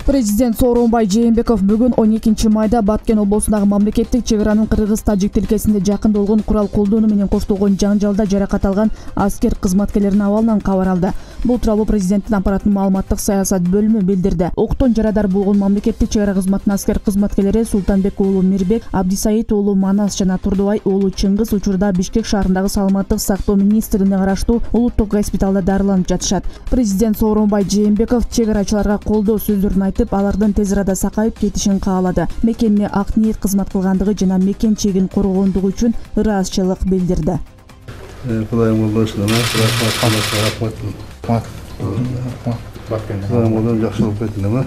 Президент Сооронбай Жээнбеков бүгүн 12 майда Баткен облусундагы мамлекеттик чек аранын кыргыз-тажик тилкесинде жакында болгон курал колдонуу менен коштолгон жаңжалда жаракат алган аскер кызматкерлеринин абалынан кабар алды. Бул тууралуу президенттин аппаратынын маалыматтык саясат бөлүмү билдирди. Октон жарадар болгон мамлекеттик чек ара кызматынын аскер кызматкерлери Султанбек уулу Мирбек, Абдисаид уулу Манас жана Турдубай уулу Чыңгыз учурда Бишкек шаарындагы саламаттык сактоо министрлигине караштуу улуттук госпиталда дарыланып жатышат. Президент Сооронбай Жээнбеков чек арачыларга колдоо сөздөрүн айтып, алардын тез арада сакайып кетишин каалады. Мекенге ак ниет кызмат кылгандыгы жана мекен чегин коргондугу үчүн ыраазычылык билдирди. Кудайым болбосун, жакшы болуп кеттиңер.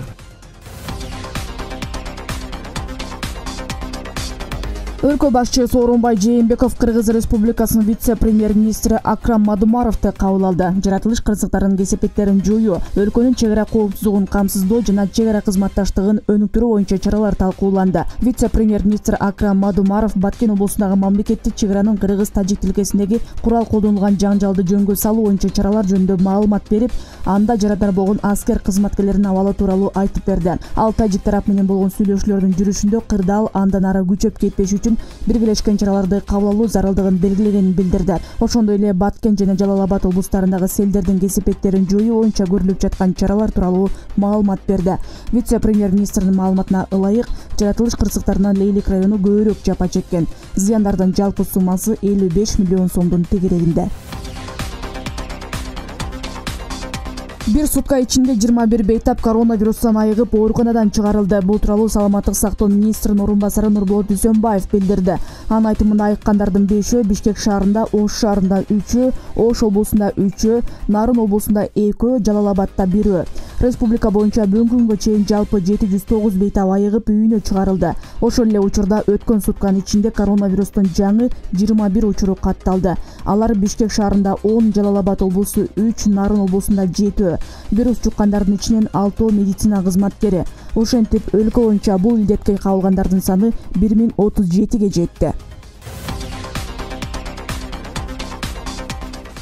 Өлкө башчы Сооронбай Жээнбеков Кыргыз Республикасынын вице-премьер-министри Акрам Мадумаровду кабыл алды. Жаратылыш кырсыктарынын кесепеттерин жоюу, өлкөнүн чек ара коопсуздугун камсыздоо жана чек ара кызматташтыгын өнүктүрүү боюнча чаралар талкууланды. Вице-премьер-министр Акрам Мадумаров Баткен облусундагы мамлекеттик чек аранын кыргыз-тажик тилкесиндеги курал колдонулган жаңжалды жөнгө салуу боюнча чаралар жөнүндө маалымат берип, анда жарадар болгон аскер кызматкерлеринин абалы тууралуу айтып берди. Ал тажик тарап менен болгон сүйлөшүүлөрдүн жүрүшүндө кырдаал андан ары күчөп кетпеш үчүн биргелешкен чараларды кабыл алуу зарылдыгын белгилегенин билдирди. Ошондой эле Баткен жана Жалал-Абад облустарындагы селдердин кесепеттерин жоюу боюнча көрүлүп жаткан чаралар тууралуу маалымат берди. Вице-премьер-министрдин маалыматына ылайык, жаратылыш кырсыктарынан Лейлик району көбүрөөк жапа чеккен. Зыяндардын жалпы суммасы 55 миллион сомдун тегерегинде. Бир сутка ичинде 21 бейтап коронавирустан айыгып ооруканадан чыгарылды. Бул тууралуу саламаттык сактоо министринин орун басары Нурболот Дүйсөнбаев билдирди. Анын айтымында айыккандардын 5-өө Бишкек шаарында, Ош шаарында 3-өө, Ош облусунда 3-өө, Нарын облусунда 2-өө, Жалал-Абадта 1-өө. Республика боюнча бүгүнкү күнгө чейин жалпы 709 бейтап айыгып үйүнө чыгарылды. Ошол эле учурда өткөн сутканын ичинде коронавирустун жаңы 21 учуру катталды. Алар Бишкек шаарында 10, Жалал-Абад облусу 3, Нарын облусунда 7. Вирус жуккандардын ичинен 6 медицина кызматкери. Ошентип өлкө боюнча бул илдетке кабылгандардын саны 1037ге жетти.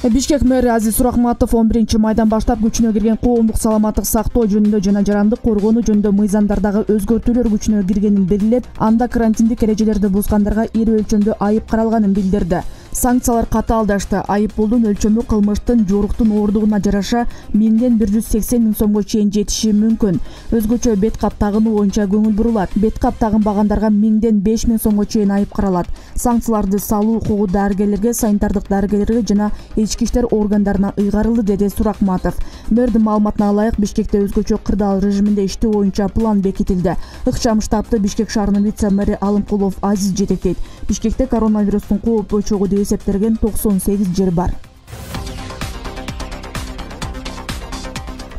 Бишкек мэри Азиз Сурахматов 11 майдан баштап күчүнө кирген коомдук саламаттык сактоо жөнүндө жана жарандык коргонуу жөнүндө мыйзамдардагы өзгөртүүлөр күчүнө киргенин белгилеп, анда карантиндик эрежелерди бузгандарга ири өлчөмдүү айып каралганын билдирди. Санкциялар катаалдашты. Айып пулдун өлчөмү кылмыштын жоруктун ооругуна жараша 1000ден 180 миң сомго чейин жетиши мүмкүн. Өзгөчө бет кап тагынуу боюнча көңүл бурулат. Бет кап тагынбагандарга 1000ден 5000 сомго чейин айып каралат. Санкцияларды салуу укугу дарыгерлерге, санитардык дарыгерлерге жана ички иштер органдарына ыйгарылды, деди Сурахматов. Мэрдин маалыматына ылайык, Бишкекте өзгөчө кырдаал режиминде иштөө боюнча план бекитилди. Ыкчам штабты Бишкек шаарынын вице-мэри Алымкулов Азиз жетектейт. Бишкекте коронавирустун кооп очогу деп эсептелген 98 жер бар.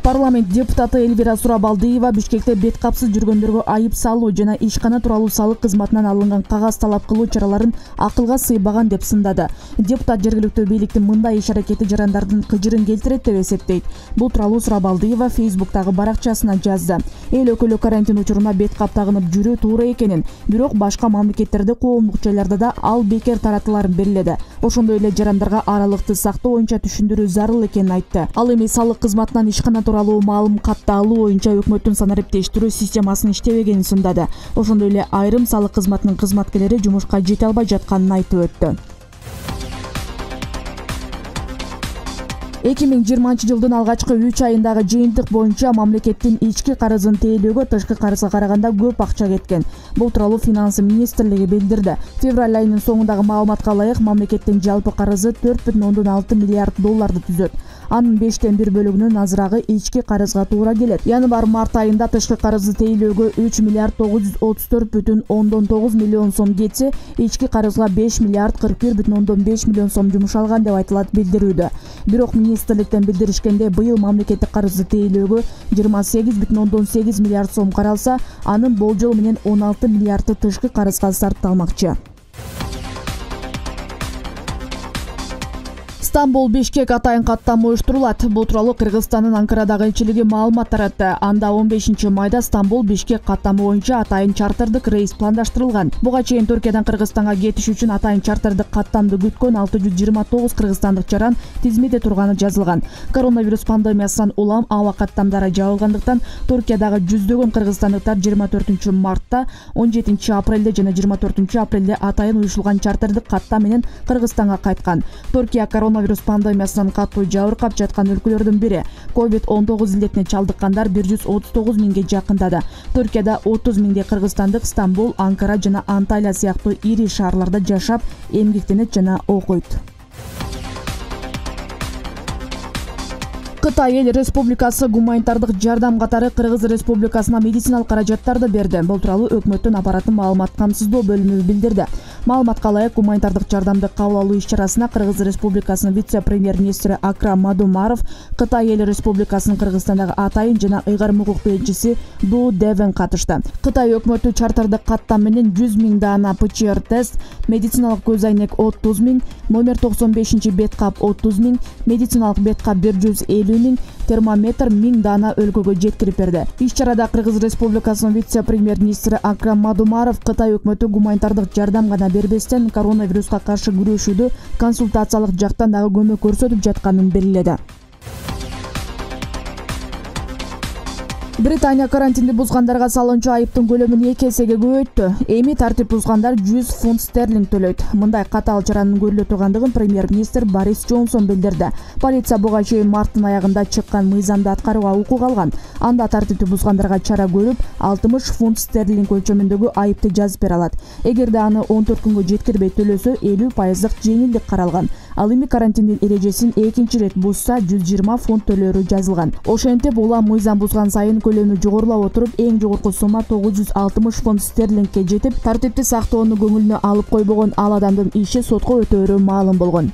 Парламент депутаты Эльвира Сурабалдиева Бишкекте бет капсыз жүргөндөргө айып салуу жана ишкана тууралуу салык кызматынан алынган кагаз талап кылуу чараларын акылга сыйбаган деп сындады. Депутат жергиликтүү бийликтин мындай иш-аракети жарандардын кыжырын келтирет деп эсептейт. Бул тууралуу Сурабалдиева Фейсбуктагы баракчасына жазды. Эл өкүлү карантин учуруна бет кап тагынып жүрүү туура экенин, бирок башка мамлекеттерде коомдук жайларда да ал бекер таратыларын белгиледи. Ошондой эле жарандарга аралыкты сактоо боюнча түшүндүрүү зарыл экенин айтты. Ал эми салык кызматынан ишкана тууралуу маалым катты алуу боюнча өкмөттүн санариптештирүү системасынын иштебегенин сындады. Ошондой эле айрым салык кызматынын кызматкерлери жумушка жете албай жатканын айтып өттү. 2020 жылдын алгачкы 3 айындагы жыйынтык боюнча мамлекеттин ички карызын тейлөөгө тышкы карызга караганда көп акча кеткен. Бул тууралуу Финансы министрлиги билдирди. Февраль айынын соңундагы маалыматка ылайык, мамлекеттин жалпы карызы 4,6 миллиард долларды түзөт. Анын 5тен 1 бөлүгүнүн азырагы ички карызга туура келет. Январь-март айында тышкы карызды тейлөөгө 3 миллиард 934,9 миллион сом кетсе, ички карызга 5 миллиард 41,5 миллион сом жумшалган деп айтылат билдирүүдө. Бирок министрликтен билдиришкенде, быйыл мамлекеттик карызды тейлөөгө 28,8 миллиард сом каралса, анын болжол менен 16 миллиард тышкы карызга сарпталмакчы. Стамбул Бишкек атайын каттама уюштурулат. Бул тууралуу Кыргызстандын Анкарадагы элчилиги маалымат таратты. Анда 15 майда Стамбул Бишкек каттама боюнча атайын чартырдык рейс пландаштырылган. Буга чейин Түркиядан Кыргызстанга кетиш үчүн атайын чартырдык каттамды күткөн 629 кыргызстандык жаран тизмеде турганы жазылган. Коронавирус пандемиясынан улам аба каттамдары жабылгандыктан Түркиядагы жүздөгөн кыргызстандыктар 24 мартта, 17 апрелде жана 24 апрелде атайын уюшулган чартырдык каттам менен Кыргызстанга кайткан. Түркия коронавирус пандемиясынан катуу жабыркап жаткан өлкөлөрдүн бири. COVID-19 илдетине чалдыккандар 139 миңге жакындады. Түркияда 30 миңдей кыргызстандык Стамбул, Анкара жана Анталия сыяктуу ири шаарларда жашап, эмгектенет жана окуйт. Кытай Эл Республикасы гуманитардык жардам катары Кыргыз Республикасына медициналык каражаттарды берди. Бул тууралуу өкмөттүн аппараттын маалымат камсыздоо бөлүмү билдирди. Маалыматка ылайык, гуманитардык жардамды кабыл алуу иш-чарасына Кыргыз Республикасынын вице-премьер-министри Акрам Мадумаров, Кытай Эл Республикасынын Кыргызстандагы атайын жана ыйгарым укуктуу элчиси Ду Девен катышты. Кытай өкмөтү чартырдык каттам менен 100 миң даана ПЧР тест, медициналык көз айнек 30 миң, номер 95 бет кап 30 миң, медициналык бет кап 150 миң, термометр 1000 даана өлкөгө жеткирип берди. Иш-чарада Кыргыз Республикасынын вице-премьер-министри Акрам Мадумаров Кытай өкмөтү гуманитардык жардам гана бербестен коронавируска каршы күрөшүүдө консультациялык жактан дагы көмөк көрсөтүп жатканын белгиледи. Британия карантинди бузгандарга салынчу айыптын көлөмүн 2 эсеге көбөйттү. Эми тартип бузгандар 100 фунт стерлинг төлөйт. Мындай катаал чаранын көрүлө тургандыгын премьер-министр Борис Джонсон билдирди. Полиция буга чейин марттын аягында чыккан мыйзамды аткарууга укук алган. Анда тартипти бузгандарга чара көрүп, 60 фунт стерлинг өлчөмүндөгү айыпты жазып бере алат. Эгерде аны 14 күнгө жеткирбей төлөсө, 50% жеңилдик каралган. Ал эми карантиндин эрежесин экинчи ирет бузса 120 фунт төлөөрү жазылган. Ошентип, улам мыйзам бузган сайын көлөмү жогорулап отуруп, эң жогорку сумма 960 фунт стерлингке жетип, тартипти сактоону көңүлүнө алып койбогон ал адамдын иши сотко өтөөрү маалым болгон.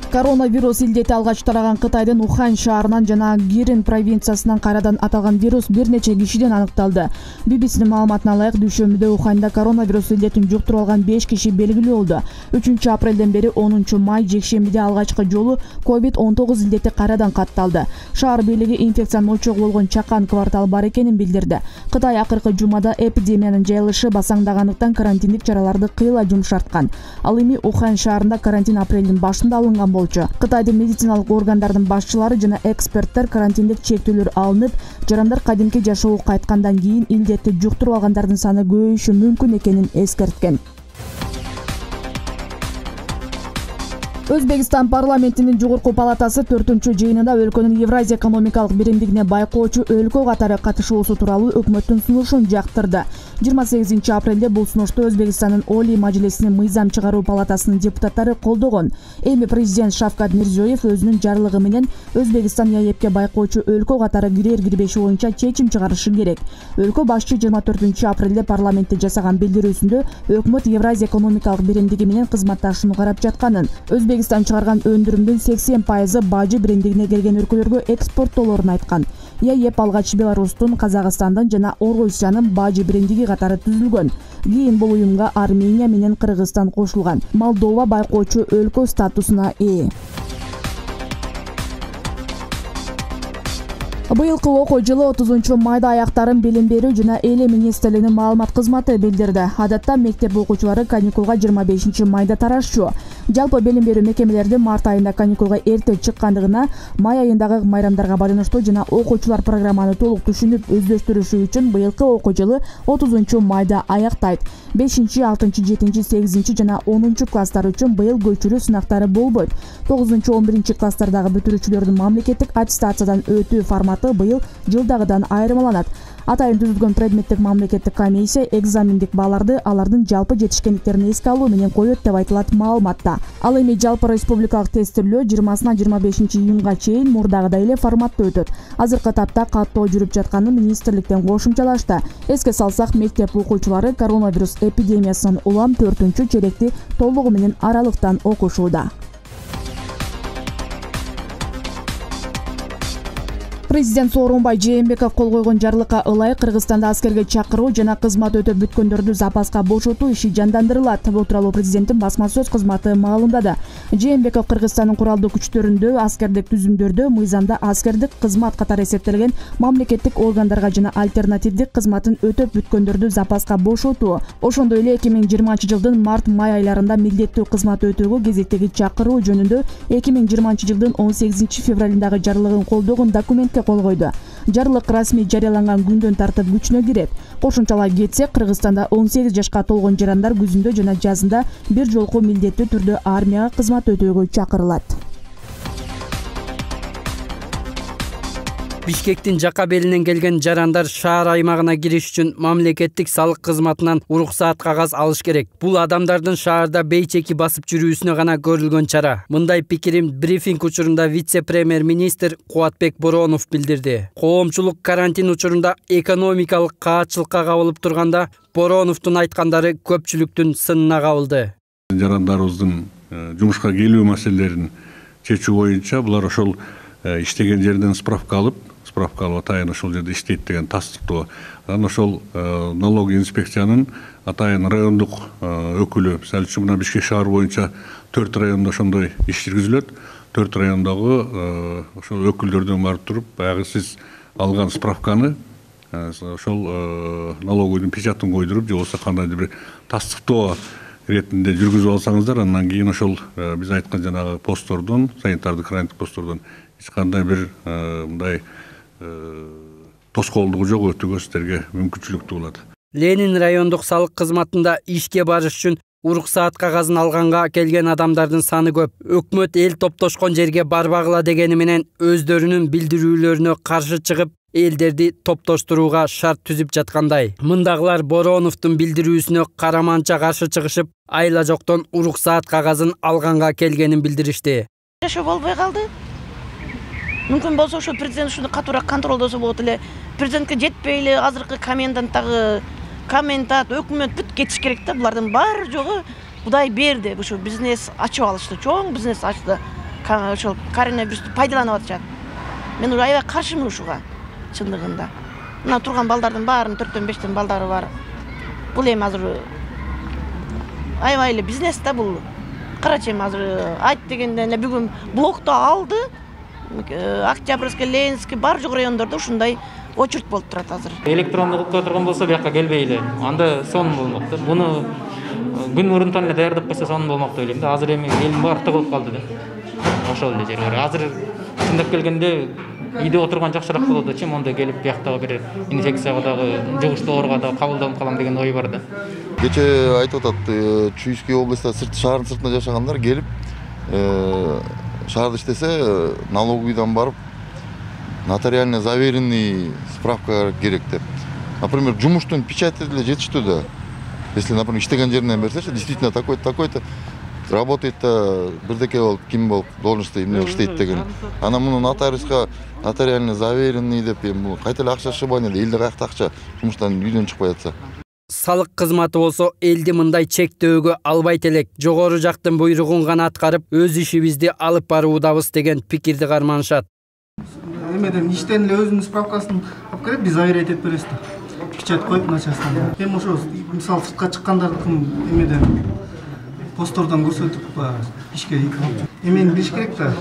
Коронавирус илдети алгач тараган Кытайдын Ухань шаарынан жана Гирин провинциясынан кайрадан аталган вирус бир нече кишиден аныкталды. BBC-нин маалыматына ылайык, дүйшөмбүдө Уханьда коронавирус илдетин жуктуруп алган 5 киши белгилүү болду. 3 апрелден бери 10 май жекшембиде алгачкы жолу COVID-19 илдети кайрадан катталды. Шаар бийлиги инфекциянын очогу болгон чакан квартал бар экенин билдирди. Кытай акыркы жумада эпидемиянын жайылышы басаңдагандыктан карантиндик чараларды кыйла жумшарткан. Ал эми Ухань шаарында карантин апрелдин башында алынган. Кытайдын медициналык органдардын башчылары жана эксперттер карантиндик чектөөлөр алынып, жарандар кадимки жашоого кайткандан кийин илдетти жуктуруп алгандардын саны көбөйүшү мүмкүн экенин эскерткен. Өзбекстан парламентинин жогорку палатасы 4-жыйынында өлкөнүн Евразия экономикалык биримдигине байкоочу өлкө катары катышуусу тууралуу өкмөттүн сунушун жактырды. 28 апрелде бул сунушту Өзбекстандын Олий Мажлисинин мыйзам чыгаруу палатасынын депутаттары колдогон. Эми президент Шавкат Мирзиёев өзүнүн жарлыгы менен Өзбекстан ЕАЭПке байкоочу өлкө катары кирер-кирбеши боюнча чечим чыгарышы керек. Өлкө башчы 24 апрелде парламентте жасаган билдирүүсүндө өкмөт Евразия экономикалык биримдиги менен кызматташууну карап жатканын, Өзбекстан чыгарган өндүрүмдүн 80% бажы биримдигине келген өлкөлөргө экспорттоолорун айткан. ЕАЭП алгач Беларустун, Казакстандын жана Орусиянын бажы биримдиги катары түзүлгөн. Кийин бул уюмга Армения менен Кыргызстан кошулган. Молдова байкоочу өлкө статусуна ээ. Быйылкы окуу жылы 30 майда аяктарын билим берүү жана эли министрлигинин маалымат кызматы билдирди. Адатта мектеп окуучулары каникулга 25 майда тарашчу. Жалпы билим берүү мекемелерди март айында каникулга эрте чыккандыгына, май айындагы майрамдарга байланыштуу жана окуучулар программаны толук түшүнүп өздөштүрүшү үчүн быйылкы окуу жылы 30 майда аяктайт. 5, 6, 7, 8 жана 10 класстар үчүн быйыл көчүрүү сынактары болбойт. 9-11 класстардагы бүтүрүүчүлөрдүн мамлекеттик аттестациядан өтүү форматы быйыл жылдагыдан айырмаланат. Атайын түзүлгөн предметтик мамлекеттик комиссия экзамендик бааларды алардын жалпы жетишкендиктерин эске алуу менен коет деп айтылат маалыматта. Ал эми жалпы республикалык тестирлөө 20-25 июнга чейин мурдагыдай эле форматта өтөт. Азыркы тапта каттоо жүрүп жатканын министрликтен кошумчалашты. Эске салсак, мектеп окуучулары коронавирус эпидемиясынан улам 4-черекти толугу менен аралыктан окушууда. Президент Сооронбай Жээнбеков кол койгон жарлыкка ылайык Кыргызстанда аскерге чакыруу жана кызмат өтөп бүткөндөрдү запаска бошотуу иши жандандырылат. Бул тууралуу президенттин басма сөз кызматы маалымдады. Жээнбеков Кыргызстандын куралдуу күчтөрүндө, аскердик түзүмдөрдө, мыйзамда аскердик кызмат катары эсептелген мамлекеттик органдарга жана альтернативдик кызматын өтөп бүткөндөрдү запаска бошотуу, ошондой эле 2020-жылдын март-май айларында милдеттүү кызмат өтөөгө кезектеги чакыруу жөнүндө 2020-жылдын 18 февралындагы жарлыгын колдогон документке кол койду. Жарлык расмий жарыяланган күндөн тартып күчүнө кирет. Кошумчалай кетсек, Кыргызстанда 18 жашка толгон жарандар күзүндө жана жазында бир жолку милдеттүү түрдө армияга кызмат өтөөгө чакырылат. Бишкектин жака белинен келген жарандар шаар аймагына кириш үчүн мамлекеттик салык кызматынан уруксаат кагаз алыш керек. Бул адамдардын шаарда бейчеки басып жүрүүсүнө гана көрүлгөн чара. Мындай пикирин брифинг учурунда вице-премьер-министр Кубатбек Боронов билдирди. Коомчулук карантин учурунда экономикалык каатчылыкка кабылып турганда Бороновдун айткандары көпчүлүктүн сынына кабылды. Жарандарыбыздын жумушка келүү маселелерин чечүү боюнча булар ошол иштеген жерден справка алып атайын ошол жерде иштейт деген тастыктоо. Анан ошол налог инспекциянын атайын райондук өкүлү, мисалы үчүн мына Бишкек шаар боюнча 4 райондо ошондой иш жүргүзүлөт. 4 райондогу ошол өкүлдөрдөн барып туруп, баягы сиз алган справканы ошол налоговыйдын печатын койдуруп, же болбосо кандайдыр бир тастыктоо иретинде жүргүзүп алсаңыздар, андан кийин ошол биз айткан жанагы посттордон, санитардык карантин посттордон эч кандай бир мындай тоскоолдугу жок өтүүгө сиздерге мүмкүнчүлүктүү болот. Ленин райондук салык кызматында ишке барыш үчүн уруксаат кагазын алганга келген адамдардын саны көп. Өкмөт эл топтошкон жерге барбагыла дегени менен өздөрүнүн билдирүүлөрүнө каршы чыгып, элдерди топтоштурууга шарт түзүп жаткандай. Мындагылар Бороновдун билдирүүсүнө караманча каршы чыгышып, айла жоктон уруксаат кагазын алганга келгенин билдиришти. Жашоо болбой калды. Мүмкүн болсо ошо президент ушуну катуураак контролдосо болот эле. Президентке жетпей эле азыркы комендант, өкмөт бүт кетиш керек да. Булардын баары жогу Кудай берди. Ошо бизнес ачып алышты, чоң бизнес ачты. Ошол коронавирусту пайдаланып атышат. Мен уже аябай каршымын ушуга, чындыгында. Мына турган балдардын баарынын 4-5 балдары бар. Бул эми азыр аябай эле бизнес да бул. Карачы эми азыр айт дегенде эле бүгүн блокто алды. Октябрьский, Ленинский бар жок райондордо ушундай очередь болуп турат азыр. Электрондук утка турган болсо бияка келбей эле. Анда сон болмок да. Буну күн мурунтан эле даярдап койсо сон болмок деп ойлойм да. Азыр эми элдин баары тыгылып калды да. Ошол эле жери бар. Азыр чындап келгенде үйдө отурган жакшыраак болот да, чим онда келип бияктагы бир инфекцияга дагы, жугуштуу ооруга дагы кабылданып калам деген ой бар да. Кече айтып атат, Чуйский областта шаардын сыртында жашагандар келип шаарда иштесе налоговыйдан барып нотариально заверенный справка керек деп. Например, жумуштун печати деле жетиштүү да. Если, например, иштеген жеринен берсечи, действительно такой-то работает, бирдеке болуп, ким болуп, должностьта эмне иштейт деген. Анан муну нотариуска нотариально заверенный деп, бул кайта эле акча шыбан эле, элде каякта акча жумуштан үйдөн чыкпай атса. Салык кызматы болсо элди мындай чектөөгө албайт элек. Жогору жактын буйругун гана аткарып, өз ишибизди алып баруудабыз деген пикирди карманышат. Эмеден иштен эле өзүнүн справкасын алып келип, биз заверять этип беребиз да. Печать коюп начальстводан. Эми ошо мисалы сыртка чыккандардыкын эмеден посттордон көрсөтүп ишке алып. Эмени билиш керек да.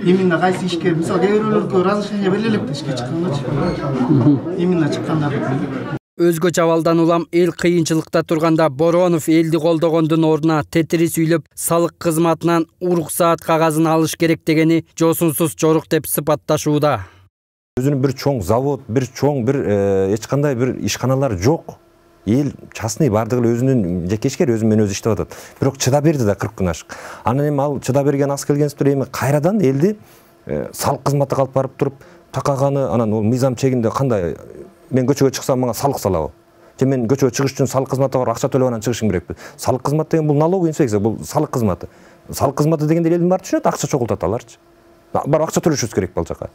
Именно кайсы ишке, мисалы кээ бирөөлөргө разрешение бериле элек да ишке чыккангачы. Именно чыккандардыкын. Өзгөчө абалдан улам эл кыйынчылыкта турганда Боронов элди колдогондун ордуна тетири сүйлөп салык кызматынан уруксаат кагазын алыш керек дегени жосунсуз жорук деп сыпатташууда. Өзүнүн бир чоң завод, бир чоң бир эч кандай бир ишканалар жок. Эл частный бардыгы эле өзүнүн жекешкер өзү менен өзү иштеп атат. Бирок чыдап берди да 40 күн ашык. Анан эми ал чыдап берген аз келгенсиптер эми кайрадан элди салык кызматына алып барып туруп такаганы, анан ол мыйзам чегинде кандай мен көчөгө чыксам мага салык салабы? Же мен көчөгө чыгыш үчүн салык кызматына барып акча төлөп анан чыгышым керекпи? Салык кызматы деген бул налоговый инспекция, бул салык кызматы. Салык кызматы дегенде элдин баары түшүнөт, акча чогултат аларчы. Барып акча төлөшүбүз керек бул жака.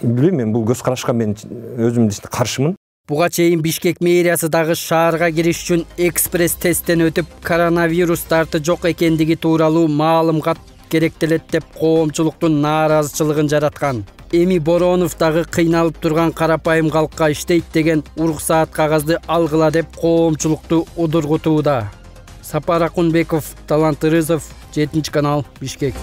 Билбейм, мен бул көз карашка мен өзүм каршымын. Буга чейин Бишкек мэриясы дагы шаарга кириш үчүн экспресс тесттен өтүп, коронавирус дарты жок экендиги тууралуу маалымат керектелет деп коомчулуктун нааразычылыгын жараткан. эми Боронов дагы кыйналып турган карапайым калкка иштейт деген уруксаат кагазды алгыла деп коомчулукту удургутууда. Сапар Акунбеков, Талант Ырызов, 7 канал, Бишкек.